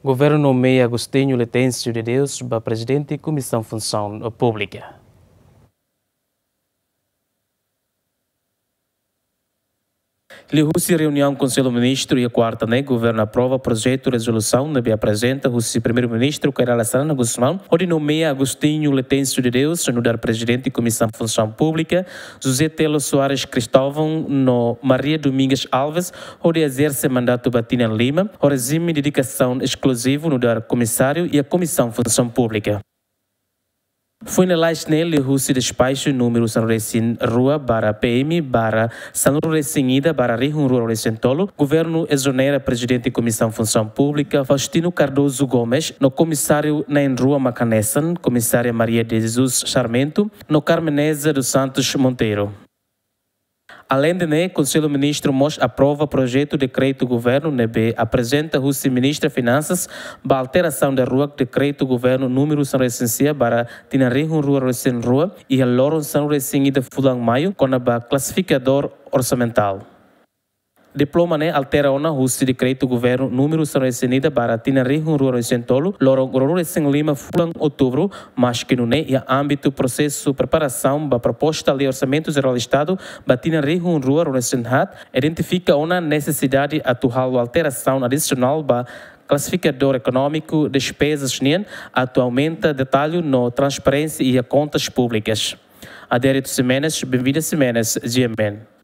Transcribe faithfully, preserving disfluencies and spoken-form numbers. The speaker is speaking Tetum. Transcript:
Governu nomeia Agostinho Letêncio de Deus ba Prezidente Komisaun Funsaun Públika. Liuhusi reuniaun Konsellu Ministru iha kuarta ne'e, Governu aprova projetu rezolusaun ne'ebé aprezenta husi Primeiru-Ministru Kay Rala Xanana Gusmão, hodi nomeia Agostinho Letêncio de Deus nu'udar Prezidente Komisaun Funsaun Públika, José Telo Soares Cristóvão no Maria Domingas Alves hodi ezerse mandatu ba tinan lima, ho rejime dedikasaun eskluzivu nu'udar komisáriu iha Komisaun Funsaun Públika. Foin lalais ne'e, liuhusi despaxu númeru sanulu-resin-rua barra P M barra sanulu-resin-ida barra rihun rua ruanulu-resin-tolu, Governu ezonera Prezidente Komisaun Funsaun Públika, Faustino Cardoso Gomes, no Komisáriu na'in-rua mak hanesan, Komisária Maria de Jesus Sarmento no Carmeneza dos Santos Monteiro. Aleinde ne'e, Konsellu Ministru mós aprova projetu dekretu governu ne'ebé aprezenta husi Ministra Finansas ba alterasaun daruak dekretu governu númeru sanulu-resin-sia barra tinan rihun rua ruanulu-resin-rua, iha loron sanulu-resin-ida fulan Maiu, kona-ba klasifikadór orsamentál. Diploma ne'e altera ona husi dekretu governu númeru sanulu-resin-ida barra tinan rihun rua ruanulu-resin-tolu, loron ruanulu-resin-lima fulan Outubru, maski nune'e iha ámbitu prosesu preparasaun ba proposta Lei Orsamentu Jerál Estadu ba tinan rihun rua ruanulu-resin-haat, identifika ona nesesidade atu halo alterasaun adisionál ba klasifikadór ekonómiku despezas nian atu aumenta detallu no transparénsia iha kontas públikas. Adérito Ximenes, Benvida Ximenes, G M N.